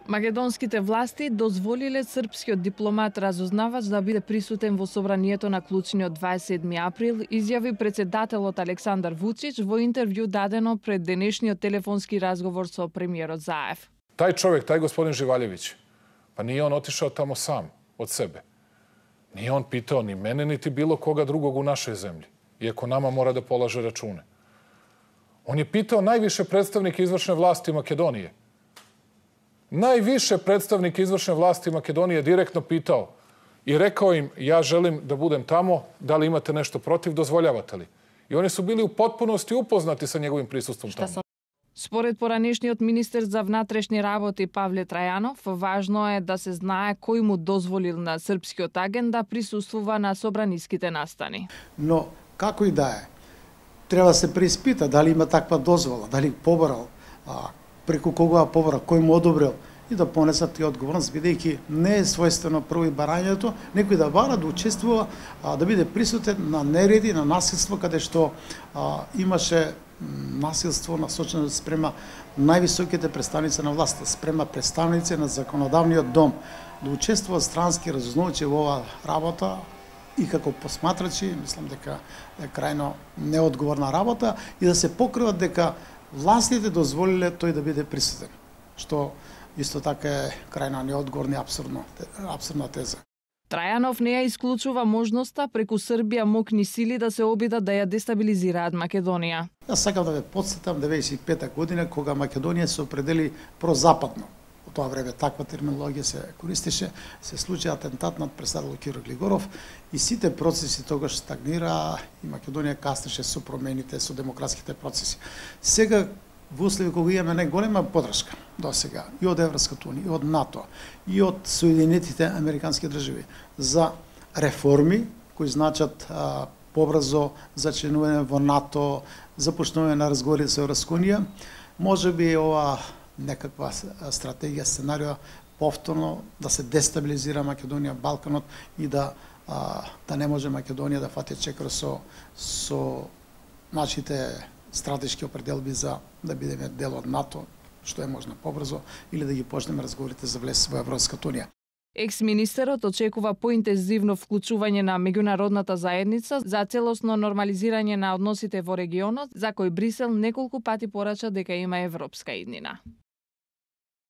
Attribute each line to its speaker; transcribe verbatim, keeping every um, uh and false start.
Speaker 1: Македонските власти дозволиле српскиот дипломат разузнавач да биде присутен во собранието на клучниот дваесет и седми април, изјави председателот Александар Вучич во интервју дадено пред денешниот телефонски разговор со премиерот Заев.
Speaker 2: Тај човек, тај господин Живалјевиć, па nije on otišao tamo sam, od sebe. Nije on pitao ni mene, niti bilo koga drugog u našoj zemlji, iako nama mora da polaže račune. On je pitao najviše predstavnike izvršne vlasti Makedonije. Najviše predstavnike izvršne vlasti Makedonije direktno pitao i rekao im, ja želim da budem tamo, da li imate nešto protiv, dozvoljavate li? I oni su bili u potpunosti upoznati sa njegovim prisustvom tamo.
Speaker 1: Според поранешниот министер за внатрешни работи Павле Трајанов, важно е да се знае кој му дозволил на српскиот агент да присуствува на собраниските настани.
Speaker 3: Но како и да е, треба да се преиспита дали има таква дозвола, дали побарал, а, преку кога побара, кој му одобрил и да понесат и одговорност, бидејќи не е својствено прво и барањето, некој да бара, да учествува, а, да биде присутен на нереди, на насилство, каде што а, имаше насилство насочено спрема највисоките представници на власта, спрема представници на законодавниот дом, да учествуваат странски разузнавачи во оваа работа и како посматрачи, мислам дека е крајно неодговорна работа и да се покриват дека властите дозволиле тој да биде присутен, што исто така е крајно неодговорна и абсурдно, абсурдна теза.
Speaker 1: Трајанов не ја исклучува можноста преку Србија мокни сили да се обидат да ја дестабилизираат Македонија.
Speaker 3: Јас сакам да ве потсетам деветдесет и пета година кога Македонија се определи прозападно. Во тоа време таква терминологија се користеше, се случи атентат над председател Киро Глигоров и сите процеси тогаш стагнира и Македонија каснеше со промените, со демократските процеси. Сега во услови кога имаме најголема поддршка до сега и од Европската унија, и од НАТО, и од Соединетите американски држави за реформи кои значат а, побрзо зачленување во НАТО, започнување на разговори со Европска унија, може би ова некаква стратегија, сценарио повторно да се дестабилизира Македонија, Балканот и да а, да не може Македонија да фати чекор со со нашите стратешки определби за да бидеме дел од НАТО, што е можно побрзо, или да ги почнеме разговорите за влез во Европската унија.
Speaker 1: Екс-министерот очекува поинтензивно вклучување на меѓународната заедница за целосно нормализирање на односите во регионот, за кој Брисел неколку пати порача дека има европска иднина.